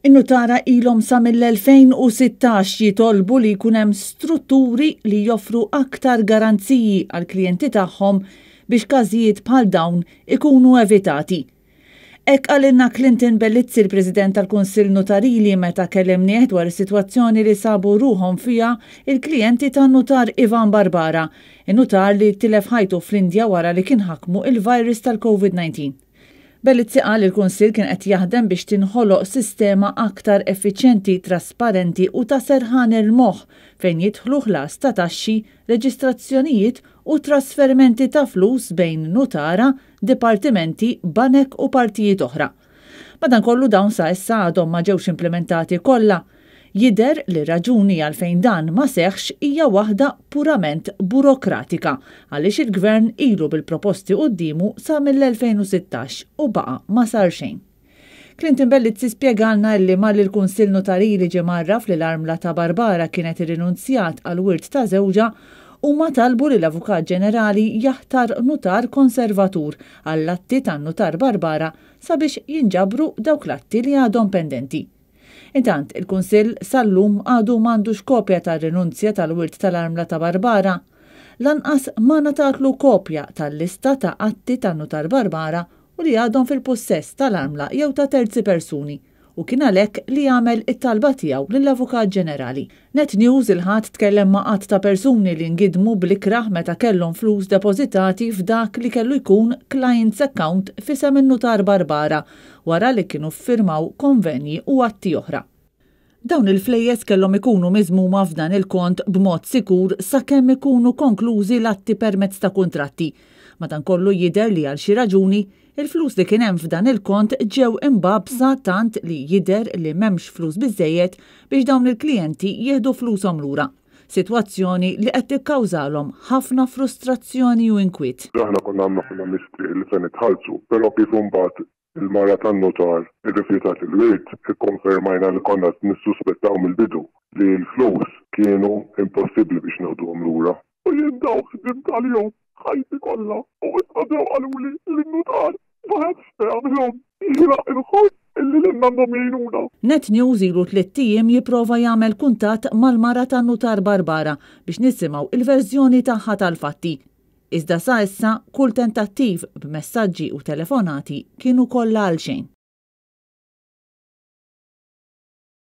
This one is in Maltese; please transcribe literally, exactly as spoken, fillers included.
In-nutara ilhom sa mill-elfejn u sittax jitolbu li jkun hemm strutturi li joffru aktar garanziji għall-klijenti tagħhom biex każijiet bħal dawn ikunu evitati. Hekk qalilna Clinton Bellizzi, il-President tal-Kunsill Notarili, meta kellimnieh dwar is-sitwazzjoni li sabu ruħhom fiha il-klijenti tan-nutar Ivan Barbara, in-nutar li tilef ħajtu fl-Indja wara li kien ħakmu il-virus tal-Covid nineteen. Bellizzi qal li l-Kunsill kien qed jaħdem biex tinħoloq sistema aktar effiċjenti, trasparenti u ta' serħan il-moħħ fejn jidħlu ħlas ta' taxxi, reġistrazzjonijiet u trasferimenti ta' flus bejn nutara, dipartimenti, banek u partijiet oħra. Madankollu dawn sa issa għadhom ma ġewx implementati kollha. Jidher li raġuni għalfejn dan ma seħħx hija waħda purament burokratika, għaliex il-gvern ilu bil-proposti quddiemu sa mill-elfejn u sittax u baqa' ma sar xejn. Clinton Bellizzi spjegalna li malli l-Kunsill Notarili ġie mgħarraf li l-armla ta' Barbara kienet irrinunzjat għal wirt ta' żewġha, huma talbu li l-Avukat Ġenerali jaħtar nutar konservatur għall-atti tan-nutar Barbara sabiex jinġabru dawk l-atti li għadhom pendenti. Intant, il-Kunsill sal-lum għadu m'għandux kopja tar-rinunzja tal-wirt tal-armla ta' Barbara. Lanqas ma ngħatatlu kopja tal-lista ta' atti tan-nutar Barbara u li għadhom fil-pussess tal-armla jew ta' terzi persuni, u kien għalhekk li għamel it-talba tiegħu lill-Avukat Ġenerali. Net News il-Ħadd tkellem ma' għadd ta' persuni li ngidmu bl-ikrah meta kellhom flus depożitati f'dak li kellu jkun client's account f'isem in-nutar Barbara wara li kienu ffirmaw konvenji u atti oħra. Dawn il-flejjes kellhom ikunu miżmuma f'dan il-kont b'mod sikur sakemm ikunu konklużi l-atti permezz ta' kuntratti. Madankollu jidher li għal xi raġuni il-flus li kien hemm f'dan il-kont ġew imbagħbsa tant li jidher li m'hemmx flus biżżejjed biex dawn il-klijenti jieħdu flushom lura. Sitwazzjoni li qed tikkawżalhom ħafna frustrazzjoni u inkwiet. Aħna konna għamna ħafna mistrieħ li se nitħallsu, però kif imbagħad il-mara tan-nutar irrifjutat il-wirt, ikkonfermajna li konna nissuspettaw mill-bidu li l-flus kienu impossibbli biex noħduhom lura. U jien daw ħdimt għalihom ħajti kollha u issa ġew qaluli li n-nutar ma ħadx jagħmilhom. Jiena inħoss illi lilna għandhom jgħinuna. Net News ilu tliet ijiem jipprova jagħmel kuntatt mal-mara tan-nutar Barbara biex nisimgħu il-verżjoni tagħha tal-fatti. Iżda sa issa kull tentattiv b'messaġġi u telefonati kienu kollha għal xejn.